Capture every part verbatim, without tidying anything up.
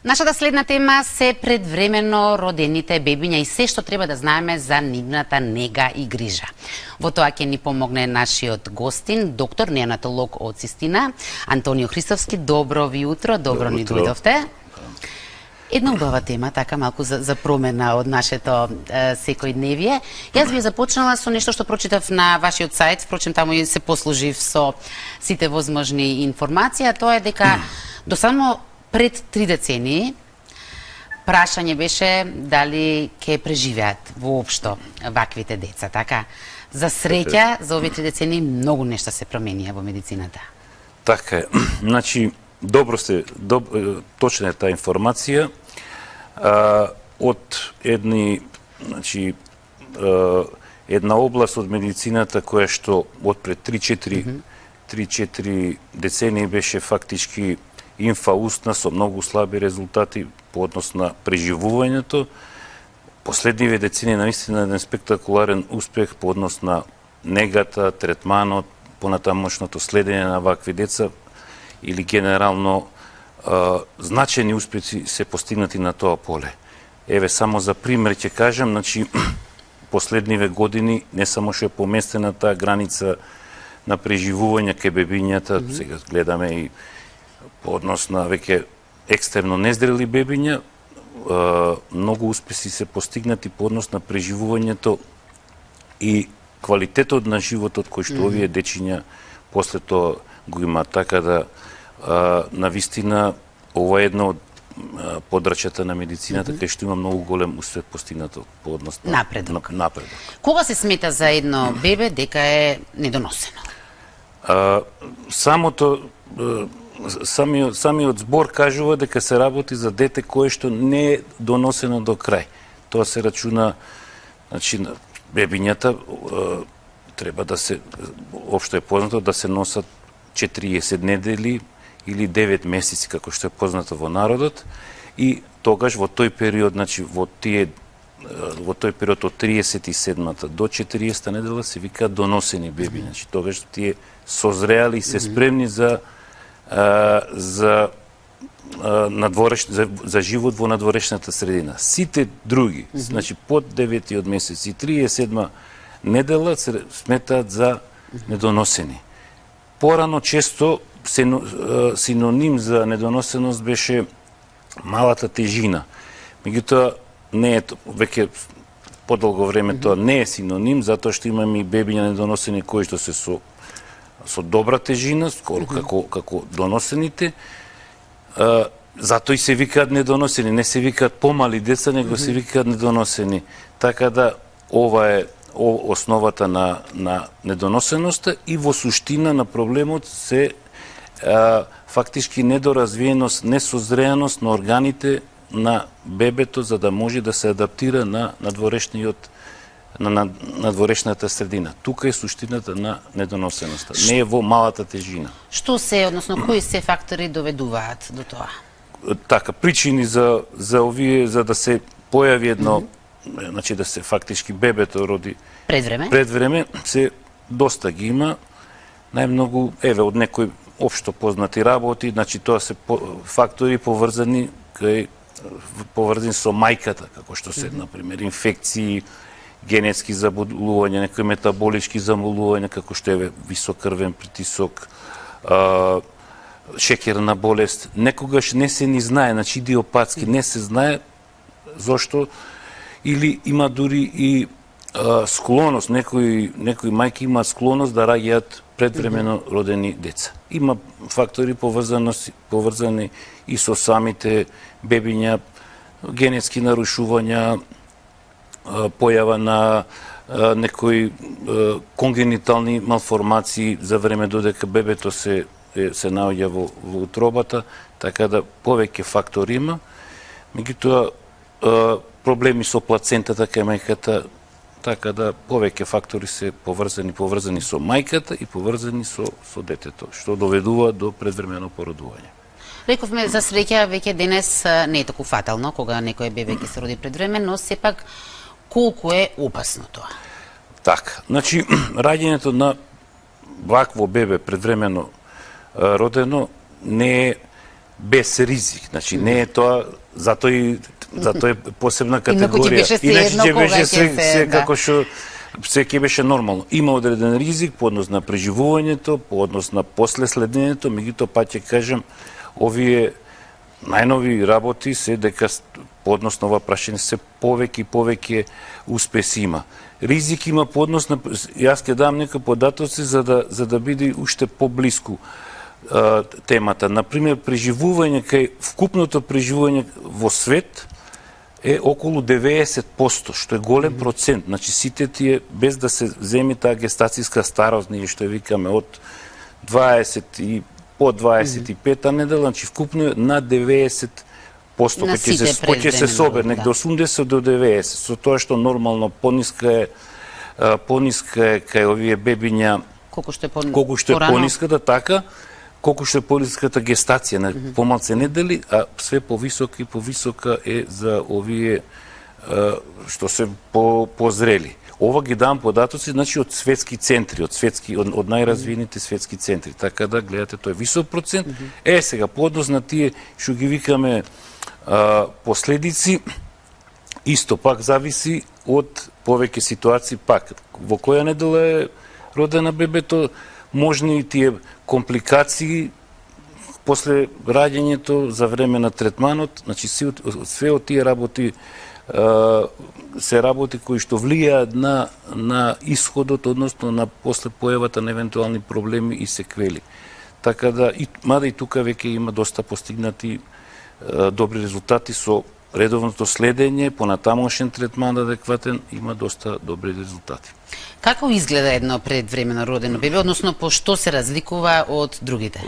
Нашата следна тема се предвремено родените бебиња и се што треба да знаеме за нивната нега и грижа. Во тоа ќе ни помогне нашиот гостин, доктор неонатолог од Цистина, Антонио Христовски. Добро ви утро, добро, добро ни дојдовте. Една убава тема, така малку за, за промена од нашето е, секојдневие. Јас би започнала со нешто што прочитав на вашиот сајт, впрочем таму и се послужив со сите возможни информации, а тоа е дека до само пред три децении прашање беше дали ќе преживеат воопшто ваквите деца, така? За среќа, за овие три децении многу нешта се променија во медицината. Така е. Значи, добро сте, доб, точна е таа информација. А, од едни, значи, а, една област од медицината која што од пред три-четири децении беше фактички инфаустна со многу слаби резултати по однос на преживувањето. Последниве децении наистина еден спектакуларен успех по однос на негата, третманот, понатамошното следење на вакви деца или генерално а, значајни успеси се постигнати на тоа поле. Еве само за пример ќе кажам, значи последниве години не само што е поместена таа граница на преживување кај бебињата, mm-hmm. сега гледаме и по однос на веќе екстерно незрели бебиња, многу успеси се постигнати по однос на преживувањето и квалитетот на животот кој што овие дечиња после тоа го имаат. Така да, навистина, ова е едно од подрачјата на медицината, кај што има многу голем успех постигнато по однос на напредок. На, напредок. Кога се смета за едно бебе дека е недоносено? А, самото Самиот, самиот збор кажува дека се работи за дете кое што не е доносено до крај. Тоа се рачуна, значи, бебињата е, треба да се, општо е познато, да се носат четириесет недели или девет месеци, како што е познато во народот, и тогаш во тој период, значи, во тие во тој период од триесет и седмата до четириесетта недела се викаат доносени беби. Значи, тогаш тие созреали и се спремни за Uh, за, uh, надвореш, за, за живот во надворешната средина. Сите други, mm -hmm. значи под деветиот месец и триесет и седма недела се сметаат за недоносени. Порано често сено, uh, синоним за недоносеност беше малата тежина. Меѓутоа не е веќе подолго време mm -hmm. тоа не е синоним, затоа што имаме и бебиња недоносени кои што се со со добра тежина, скоро mm -hmm. како, како доносените, а, затоа и се викаат недоносени, не се викаат помали деца, него mm -hmm. се викаат недоносени. Така да, ова е о, основата на, на недоносеноста и во суштина на проблемот се а, фактички недоразвиеност, несозреаност на органите на бебето, за да може да се адаптира на надворешниот на надворешната средина. Тука е суштината на недоносеноста. Не е во малата тежина. Што се, односно, кои се фактори доведуваат до тоа? Така, причини за, за овие, за да се појави едно, mm -hmm. значи да се фактички бебето роди пред време, пред време се доста ги има. Најмногу, еве, од некои општо познати работи, значи тоа се по, фактори поврзани кај поврзани со мајката, како што се, mm -hmm. например, инфекции, генетски заболувања, некои метаболички заболувања, како што е висок крвен притисок, а, шеќерна болест. Некогаш не се ни знае, значи идиопатски не се знае зошто, или има дури и а, склоност, некои, некои мајки имаат склоност да раѓаат предвремено родени деца. Има фактори поврзани и со самите бебиња, генетски нарушувања, појава на а, некои а, конгенитални малформации за време додека бебето се е, се наоѓа во, во утробата, така да повеќе фактори има. Меѓутоа проблеми со плацентата кај мајката, така да повеќе фактори се поврзани, поврзани со мајката и поврзани со со детето, што доведува до предвремено породување. Рековме за среќа веќе денес не е толку фатално кога некој бебе ќе се роди пред време, но сепак колку е опасно тоа? Така, значи, раѓањето на вакво бебе предвремено родено не е без ризик. Значи не е тоа, затоа и затоа е посебна Инаку категорија. ќе беше се Иначе едно ќе кога беше ќе се, се, се да. како што се ќе беше нормално. Има одреден ризик по однос на преживувањето, по однос на после следењето, меѓутоа пак ќе кажам, овие најнови работи се дека по однос на ова прашање се повеќе и повеќе успеси има. Ризик има по однос на, јас ќе дам некои податоци за да за да биде уште поблиску а, темата. Например, преживување кај вкупното преживување во свет е околу деветдесет проценти, што е голем процент. Значи сите тие, без да се земи таа гестацијска старост, ние што ја викаме од дваесет и по дваесет и пета недела, значи вкупно е над деветдесет проценти, На ќе се сите ќе се собере да. негде осумдесет до деветдесет, со тоа што нормално пониска е а, пониска е кај овие бебиња, Колку што е по колку што е порано. пониската, така, колку што е пониската гестација, на помалце недели, а све повисока и повисока е за овие а, што се по позрели. Ова ги давам податоци, значи од светски центри, од светски од, од најразвиените светски центри. Така да гледате, тој е висок процент. Е сега по однос на тие што ги викаме а, последици, исто пак зависи од повеќе ситуации пак. Во која недела е родена бебето, можни и тие компликации после раѓањето за време на третманот, значи све од тие работи се работи кои што влијаат на на исходот, односно на после појавата на евентуални проблеми и секвели. Така да и мада и тука веќе има доста постигнати е, добри резултати со редовното следење, понатамошен третман адекватен, има доста добри резултати. Како изгледа едно предвремено родено бебе, односно по што се разликува од другите?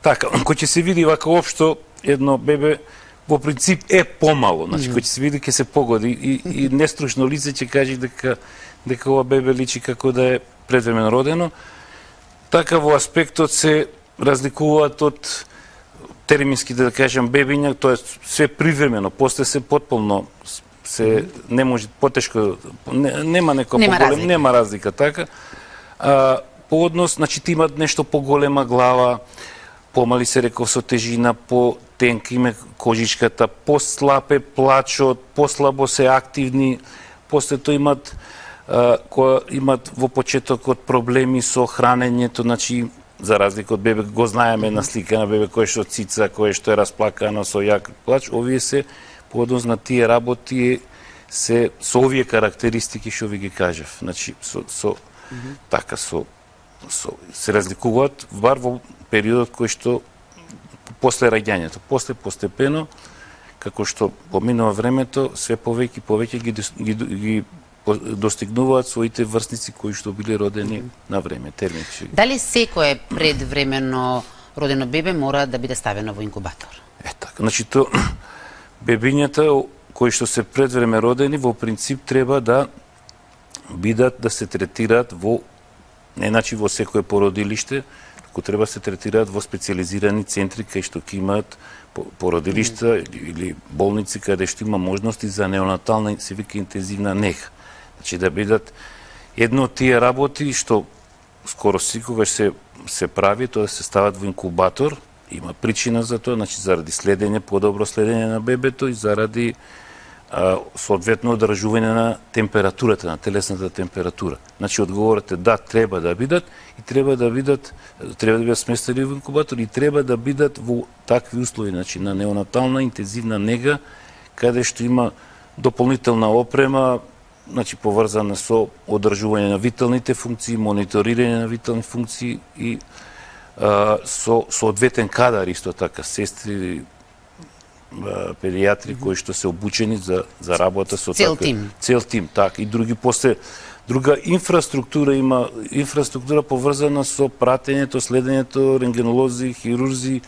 Така, кој ќе се види вака општо едно бебе во принцип е помало, значи кој ќе се види ќе се погоди и, и нестручно лице ќе каже дека дека ова бебе личи како да е предвремено родено. Така во аспектот се разликуваат од термински да кажам бебиња, тоа е све привремено, после се потполно се не може потешко не, нема некој нема поголем, разлика. нема разлика така. А, по однос, значи ти имат нешто поголема глава, помали се реков со тежина, по тенка име кожичката, послаб е плачот, послабо се активни, после тоа имат а, која имат во почетокот проблеми со хранењето, значи за разлика од бебе, го знаеме на слика на бебе кој што цица, кој што е расплакано со јак плач, овие се по однос на тие работи се со овие карактеристики што ви ги кажав. Значи со со mm -hmm. така со со се разликуваат бар во периодот кој што после раѓањето, после постепено како што поминува времето, све повеќе и повеќе ги, ги, ги достигнуваат своите врсници кои што били родени на време, термински. Дали секое предвремено родено бебе мора да биде ставено во инкубатор? Е така, значи то бебињата кои што се предвреме родени во принцип треба да бидат да се третираат во не значи во секое породилиште, туку треба да се третираат во специализирани центри кај што ќе имаат породилишта mm. или болници каде што има можности за неонатална се вика интензивна нега. Значи да бидат едно од тие работи што скоро секогаш се се прави, тоа да се стават во инкубатор. Има причина за тоа, значи заради следење, подобро следење на бебето и заради а, соодветно одржување на температурата, на телесната температура. Значи одговорот е да, треба да бидат и треба да бидат треба да бидат сместени во инкубатор и треба да бидат во такви услови, значи на неонатална интензивна нега каде што има дополнителна опрема, значи поврзана со одржување на виталните функции, мониторирање на витални функции и а, со соодветен кадар исто така, сестри, а, педијатри кои што се обучени за за работа со цел таква, тим. Цел тим, така и други после друга инфраструктура има инфраструктура поврзана со пратењето, следењето, рентгенолози, хирурзи,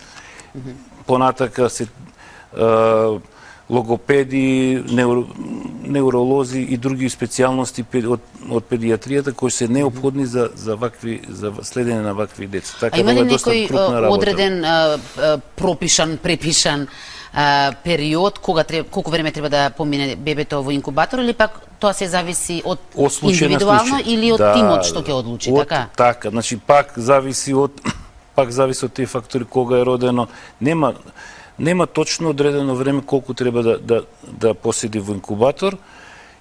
mm -hmm. понатака се а, логопеди, неуро, неуролози и други специјалности од, од педијатријата кои се неопходни за за вакви за следење на вакви деца. Така, а има ли некој одреден а, а, пропишан, препишан а, период кога треба, колку време треба да помине бебето во инкубатор или пак тоа се зависи од, од индивидуално или од да, тимот што ќе одлучи, од, така? Така, значи пак зависи од пак зависи од тие фактори кога е родено. Нема нема точно одредено време колку треба да да да поседи во инкубатор,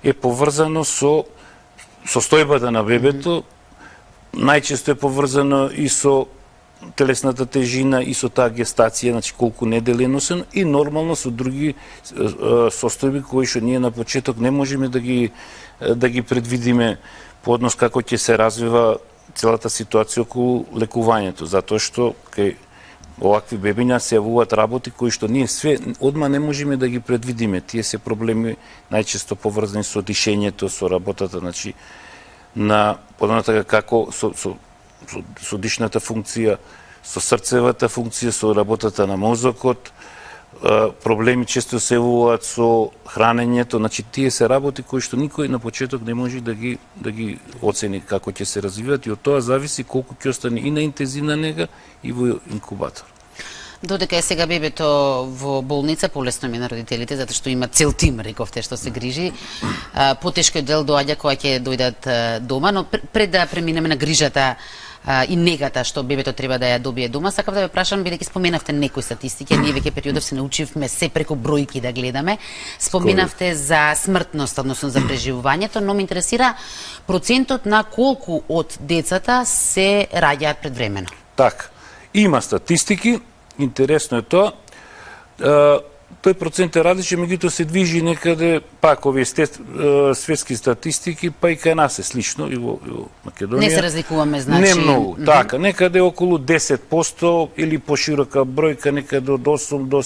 е поврзано со состојбата на бебето, најчесто е поврзано и со телесната тежина и со таа гестација, значи колку недели е носено, и нормално со други состојби кои што ние на почеток не можеме да ги да ги предвидиме по однос како ќе се развива целата ситуација околу лекувањето, затоа што кај овакви бебиња се јавуваат работи кои што ние све одма не можеме да ги предвидиме. Тие се проблеми најчесто поврзани со дишењето, со работата, значи на подонатака како со, со, со, со дишната функција, со срцевата функција, со работата на мозокот, проблеми често се јавуваат со хранењето, значи тие се работи кои што никој на почеток не може да ги да ги оцени како ќе се развиваат, и од тоа зависи колку ќе остане и на интензивна нега и во инкубатор. Додека е сега бебето во болница, полесно ми на родителите, затоа што има цел тим, рековте, што се грижи. Потешкиот дел доаѓа кога ќе дојдат дома, но пред да преминеме на грижата и негата што бебето треба да ја добие дома, сакав да ве прашам, бидејќи споменавте некои статистики, ние веќе периодов се научивме се преку бројки да гледаме. Споменавте за смртност, односно за преживувањето, но ме интересира процентот на колку од децата се раѓаат предвремено. Така, има статистики, интересно е тоа. Тој процент е различен, меѓутоа се движи некаде, пак овие светски статистики, па и кај нас е слично, и во, и во Македонија. Не се разликуваме, значи... Не многу, mm -hmm. така, некаде околу десет проценти или поширока бројка, некаде од осум до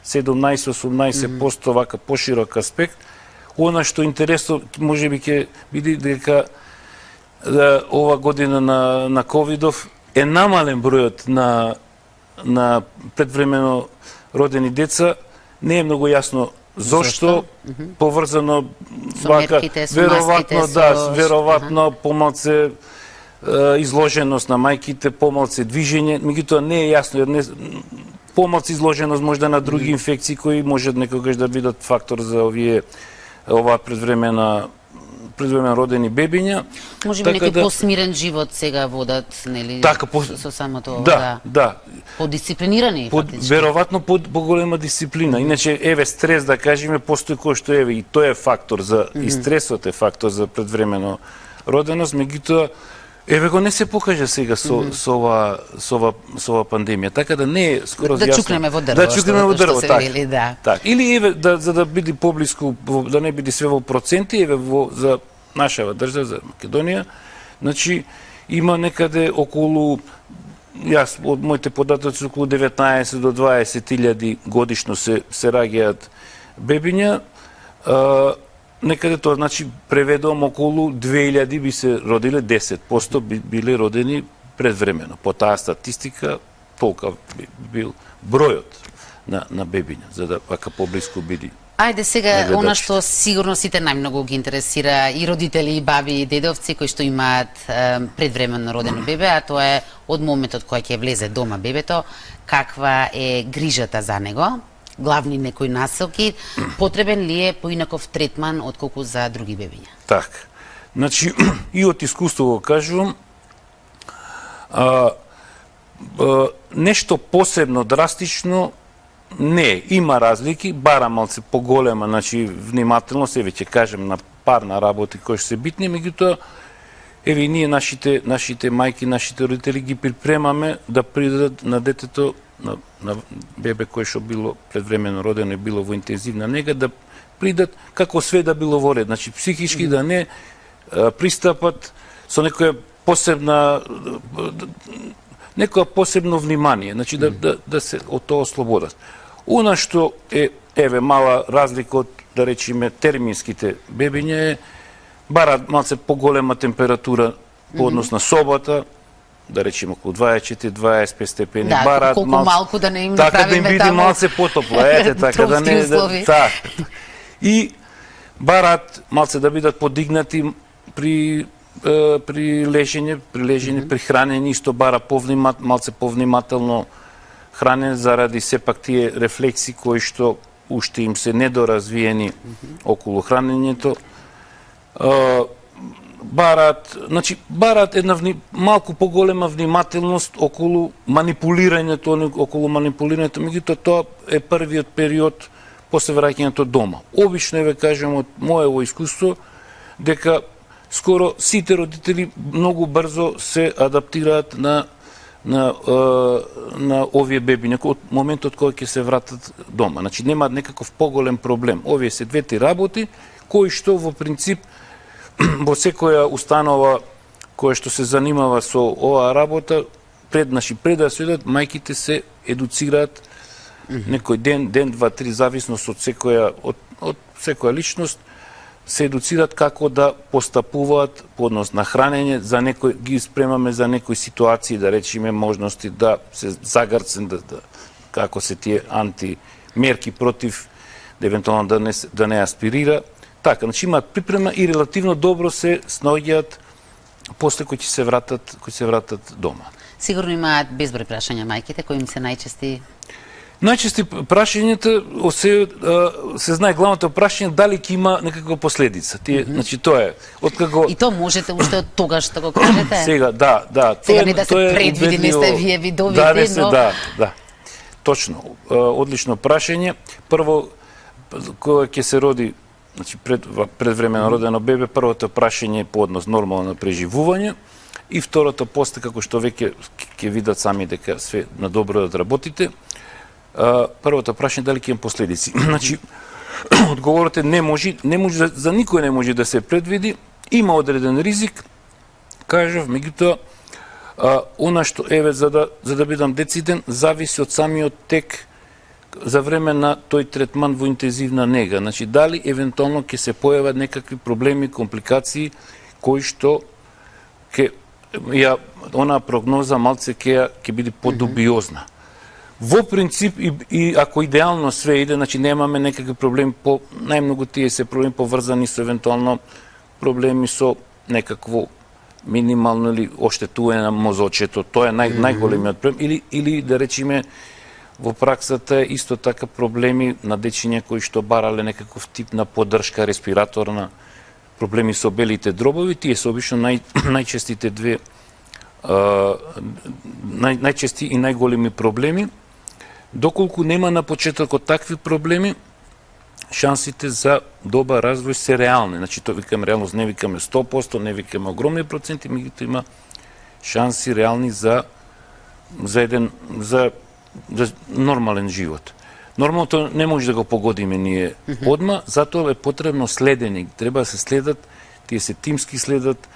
седумнаесет до осумнаесет проценти, mm -hmm. вака поширок аспект. Она што интересно, можеби ќе биде дека да, ова година на, на ковидов е намален бројот на, на предвремено родени деца. Не е многу јасно зошто, mm -hmm. поврзано со вака, мерките, со веројатно маските, да, со... веројатно uh -huh. помалце е, изложеност на мајките, помалце движење, меѓутоа не е јасно, не, помалце изложеност можда на други mm -hmm. инфекции кои можат некогаш да бидат фактор за овие оваа предвремена предвремено родени бебиња. Може би некој да... посмирен живот сега водат, нели, така, по... со самото ова, да, да. да. Подисциплинирани, Под, фактички. веројатно под поголема дисциплина. Иначе, еве, стрес, да кажеме, постои кој што еве, и тој е фактор за, mm -hmm. и стресот е фактор за предвремено роденост, меѓутоа, еве го не се покажа сега со, mm -hmm. со, ова, со, ова, со ова пандемија, така да не е скоро да јасно. чукнеме во дрво, да чукнеме во дрво, така. Вели, да. Так. Или еве, да, за да биде поблиску, да не биде све во проценти, еве, во, за нашава држава, за Македонија, значи, има некаде околу, јас од моите податоци, околу деветнаесет до дваесет илјади годишно се, се раѓаат бебиња. А, некаде тоа, значи, преведувам околу две илјади би се родиле, десет проценти би, биле родени предвремено. По таа статистика, толка би бил бројот на, на бебиња, за да вака поблиску биде. Ајде сега, она што сигурно сите најмногу ги интересира и родители, и баби, и дедовци кои што имаат е, предвремено родено бебе, а тоа е од моментот кој ќе влезе дома бебето, каква е грижата за него, главни некои насоки, потребен ли е поинаков третман отколку за други бебиња? Така. Значи, и од искуство го кажувам, а, а, нешто посебно драстично не, има разлики, бара малце поголема, значи внимателност, еве ќе кажем на пар на работи кои што се битни, меѓутоа еве ние нашите нашите мајки, нашите родители ги припремаме да придадат на детето, на, на бебе кој што било предвремено родено и било во интензивна нега, да придат како све да било во ред, значи психички да не а, пристапат со некоја посебна некоја посебно внимание, значи да, да, да се од тоа ослободат. Она што е, еве, мала разлика од, да речеме, терминските бебиња е, барат малце поголема температура по однос на собата, да речеме околу дваесет четири до дваесет пет степени, да, барат колку малце, малку да не им така да им направиме биде таму малце потопло, ете, така да не... Да, та. И барат малце да бидат подигнати при при лежење, при лежење, mm -hmm. при хранење, исто бара повнимат, малце повнимателно хранење заради сепак тие рефлекси кои што уште им се недоразвиени mm -hmm. околу хранењето. бараат, значи бараат една вни, малку поголема внимателност околу манипулирањето, околу манипулирањето, меѓутоа тоа е првиот период после враќањето дома. Обично ве кажам од моево искуство дека скоро сите родители многу брзо се адаптираат на на на овие бебиња од моментот кога ќе се вратат дома. Значи немаат некаков поголем проблем. Овие се двете работи кои што во принцип во секоја установа која што се занимава со оваа работа, пред наши пред да се идат, мајките се едуцираат некој ден, ден, два, три, зависност од секоја од, од секоја личност, се едуцираат како да постапуваат по однос на хранење, за некој ги спремаме за некои ситуации, да речеме можности да се загрцен, да, да како се тие антимерки против да евентуално да не да не аспирира. Така, значи имаат припрема и релативно добро се снаоѓаат после кои ќе се вратат, кои се вратат дома. Сигурно имаат безброј прашања мајките, кои им се најчести. Најчести прашањата се се знае главното прашање дали ќе има некаква последица. Тие, mm -hmm. значи тоа е откако и тоа можете уште од тогаш да го кажете. Сега, да, да, сега не да се предвиди, не сте вие видовите, да, не се, но да, да. Точно, одлично прашање. Прво кога ќе се роди, значи пред предвремено родено бебе, првото прашање е по однос нормално на преживување и второто после како што веќе ќе видат сами дека све на добро да работите. Првото прашање дали ќе има последици. Значи одговорот е не може, не може за никој не може да се предвиди, има одреден ризик. Кажав, меѓутоа она што еве за да за да бидам дециден зависи од самиот тек за време на тој третман во интензивна нега. Значи, дали евентуално ќе се појават некакви проблеми, компликации, кои што ќе ја она прогноза малце ќе ќе биде подубиозна. Во принцип и, и ако идеално све иде, значи немаме некакви проблеми по најмногу тие се проблеми поврзани со евентуално проблеми со некакво минимално или оштетување на мозочето, тоа е нај, најголемиот проблем или или да речеме во праксата исто така проблеми на дечиња кои што барале некаков тип на поддршка респираторна, проблеми со белите дробови, тие се обично нај, најчестите две а, нај, најчести и најголеми проблеми. Доколку нема на почетокот такви проблеми, шансите за добар развој се реални. Значи, тоа викаме реалност, не викаме сто проценти, не викаме огромни проценти, меѓутоа има шанси реални за за еден за за нормален живот. Нормалното не може да го погодиме ние одма, затоа е потребно следење. Треба да се следат, тие се тимски следат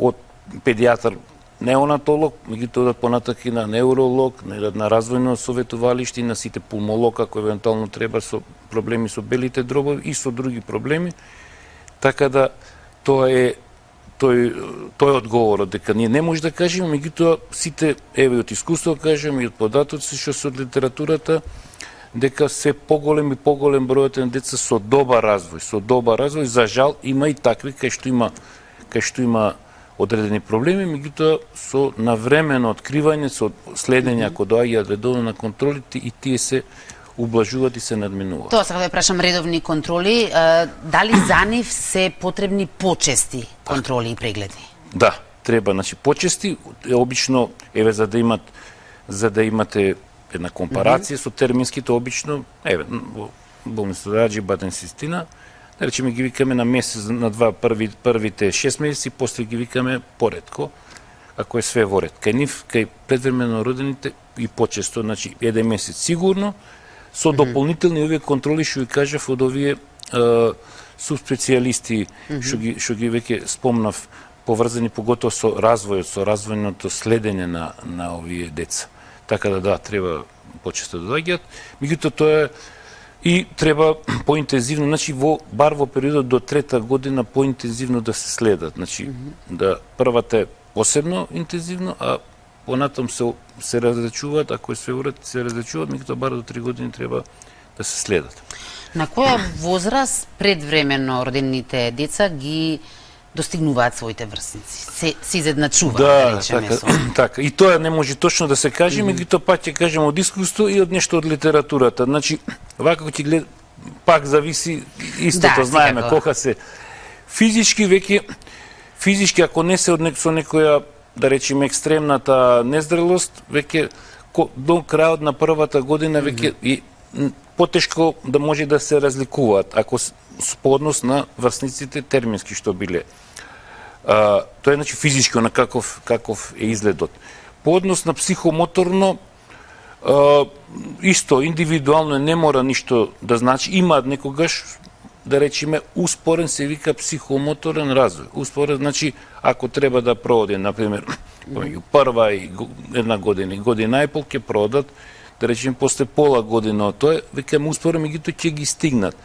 од педијатар, неонатолог, меѓутоа да понатак и на невролог, на развојно советувалиште, на сите пулмолог, ако евентуално треба со проблеми со белите дробови и со други проблеми. Така да тоа е тој тој одговорот дека ние не може да кажеме, меѓутоа сите еве од искуство кажеме и од податоци што се од литературата дека се поголем и поголем бројот на деца со добар развој, со добар развој, за жал има и такви кај што има кај што има одредени проблеми, меѓутоа со навремено откривање, со следење ако доаѓаат редовно на контролите и тие се ублажуваат и се надминуваат. Тоа сакам да прашам редовни контроли, дали за нив се потребни почести контроли и прегледи? Да, треба, значи почести, обично еве за да имат за да имате една компарација mm -hmm. со терминските обично, еве во болница Раџи Баден Систина, да речеме ги викаме на месец, на два први првите шест месеци, после ги викаме поредко, ако е све во ред. Кај нив, кај предвремено родените и почесто, значи еден месец сигурно, со mm -hmm. дополнителни овие контроли што ви кажав од овие е, субспецијалисти mm -hmm. што ги што ги веќе спомнав, поврзани поготово со развојот, со развојното следење на на овие деца. Така да да, треба почесто да доаѓаат. Меѓутоа тоа е и треба поинтензивно, значи во бар во периодот до трета година поинтензивно да се следат. Значи mm -hmm. да првата е посебно интензивно, а понатам се се разрачуваат, ако е све уред, се разрачуваат, меѓутоа бар до три години треба да се следат. На која возраст предвремено родените деца ги достигнуваат своите врсници? Се, се изедначуваат, да, да речеме така, со. така. И тоа не може точно да се каже, меѓутоа mm -hmm. пак ќе кажем од искуство и од нешто од литературата. Значи, вака ќе глед, пак зависи истото, да, знаеме, кога се физички веќе физички, ако не се од нек, со некоја, да речеме, екстремната незрелост, веќе до крајот на првата година веќе и потешко да може да се разликуваат, ако по однос на врсниците термински што биле. А, тоа е значи физички на каков каков е изгледот. По однос на психомоторно, а, исто индивидуално не мора ништо да значи, има некогаш, да речеме, успорен се вика психомоторен развој. Успорен значи ако треба да проводи, например, помеѓу прва и една година и година и пол ќе продат, да речеме после пола година од тоа, веќе успорен, меѓутоа ќе ги стигнат.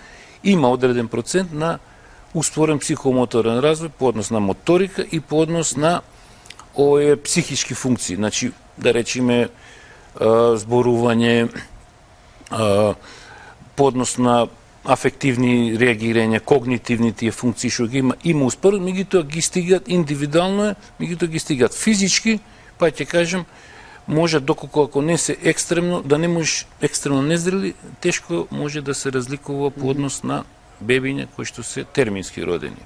Има одреден процент на успорен психомоторен развој по однос на моторика и по однос на овие психички функции. Значи, да речеме, зборување, по однос на афективни реагирања, когнитивни тие функции што ги има, има успорен, меѓутоа ги стигат индивидуално е, меѓутоа ги стигат физички, па ќе кажем, може доколку ако не се екстремно, да не можеш екстремно незрели, тешко може да се разликува по однос на бебиња кои што се термински родени.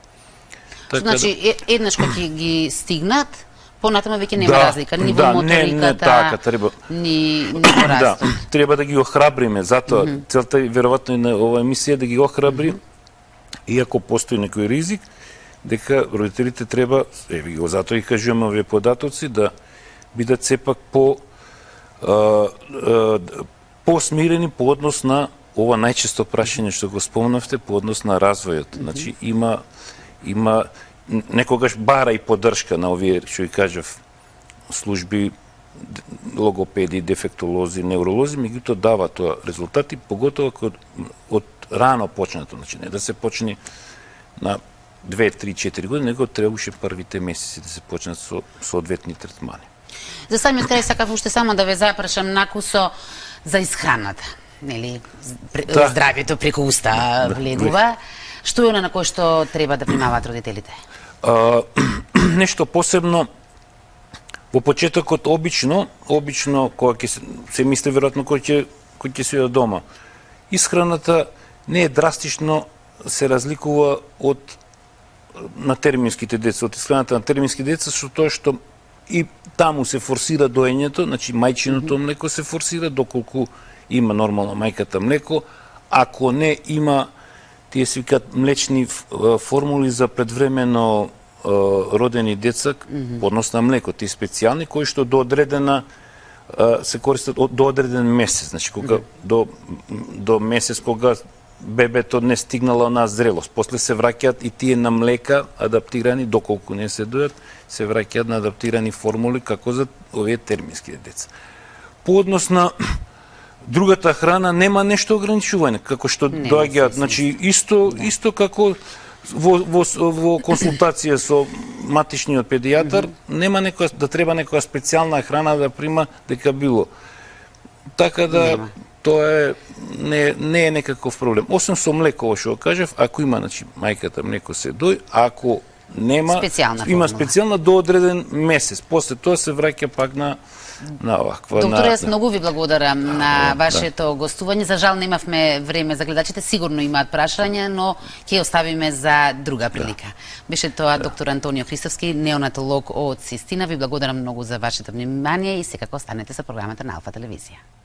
Така значи, да... еднаш кога ќе ги стигнат, понатаму веќе нема да, разлика, ни во да, моториката, не, не, така, треба... ни, ни во растот. Да, треба да ги охрабриме, затоа mm -hmm. целта е веројатно и на оваа емисија да ги охрабри, mm -hmm. иако постои некој ризик, дека родителите треба, еве го затоа и кажуваме овие податоци, да бидат сепак по а, а, по-смирени по однос на ова најчесто прашање што го спомнавте, по однос на развојот. Mm -hmm. Значи има има некогаш бара и поддршка на овие, што ги кажав, служби, логопеди, дефектолози, невролози, меѓутоа дава тоа резултати, поготово ако од рано почнато, значи не да се почне на две, три, четири години, него требаше првите месеци да се почнат со соодветни третмани. За самиот крај сакав уште само да ве запрашам накусо за исхраната, нели, да. Здравјето преку уста влегува. Што е она на кое што треба да внимаваат родителите? А, нешто посебно, во почетокот обично, обично кога ќе се, се мисли веројатно кој ќе кој ќе се дома. Исхраната не е драстично се разликува од на терминските деца, од исхраната на термински деца, со тоа што и таму се форсира доењето, значи мајчиното млеко се форсира доколку има нормално мајката млеко, ако не има тие се викаат млечни формули за предвремено родени деца по однос на млеко, тие специјални кои што до одредена се користат до одреден месец, значи кога до до месец кога бебето не стигнало на зрелост. После се враќаат и тие на млека адаптирани, доколку не се дојат, се враќаат на адаптирани формули како за овие термински деца. По однос на другата храна нема нешто ограничување, како што доаѓаат, значи исто да. исто како во, во, во консултација со матичниот педијатар, mm -hmm. нема некоја да треба некоја специјална храна да прима дека било. Така да нема. Тоа е не не е некаков проблем. Освен со млеко, што кажав, ако има, значи мајката млеко се дој, ако нема специјална има специјална до одреден месец. После тоа се враќа пак на на оваква. Доктор, јас многу ви благодарам да, на вашето да. гостување. За жал немавме време за гледачите, сигурно имаат прашања, но ќе оставиме за друга прилика. Да. Беше тоа да. доктор Антонио Христовски, неонатолог од Систина. Ви благодарам многу за вашето внимание и секако останете со програмата на Алфа телевизија.